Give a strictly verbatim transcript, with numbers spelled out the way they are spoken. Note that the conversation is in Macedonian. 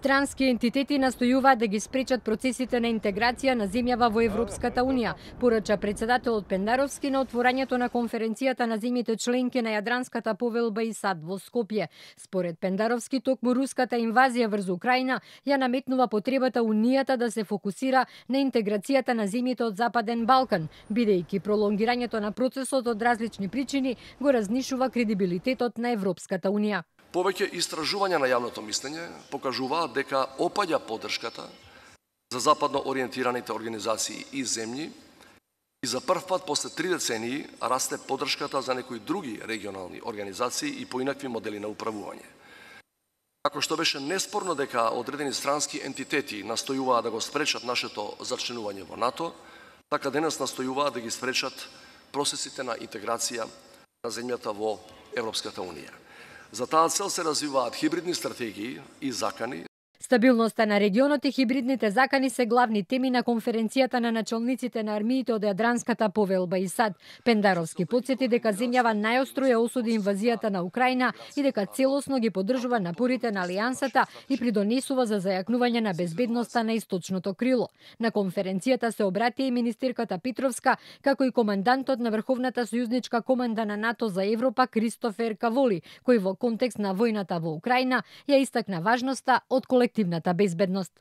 Странски ентитети настојуваат да ги спречат процесите на интеграција на земјава во Европската унија, порача председателот Пендаровски на отворањето на конференцијата на земјите членки на Јадранската повелба и САД во Скопје. Според Пендаровски, токму руската инвазија врз Украина ја наметнува потребата Унијата да се фокусира на интеграцијата на земјите од Западен Балкан, бидејќи пролонгирањето на процесот од различни причини го разнишува кредибилитетот на Европската унија. Повеќе истражувања на јавното мислење покажуваат дека опаѓа поддршката за западно ориентираните организации и земји и за прв пат после три децении расте поддршката за некои други регионални организации и поинакви модели на управување. Како што беше неспорно дека одредени странски ентитети настојуваат да го спречат нашето зачленување во НАТО, така денес настојуваат да ги спречат процесите на интеграција на земјата во Европската унија. За таа цел се развиваат хибридни стратегии и закани. Стабилноста на регионот и хибридните закани се главни теми на конференцијата на началниците на армиите од Јадранската повелба и САД. Пендаровски потсети дека земјава најостро ја осуди инвазијата на Украина и дека целосно ги поддржува напорите на алијансата и придонесува за зајакнување на безбедноста на источното крило. На конференцијата се обрати и министерката Петровска, како и командантот на Врховната сојузничка команда на НАТО за Европа Кристофер Каволи, кој во контекст на војната во Украина ја истакна важноста од колективната безбедност.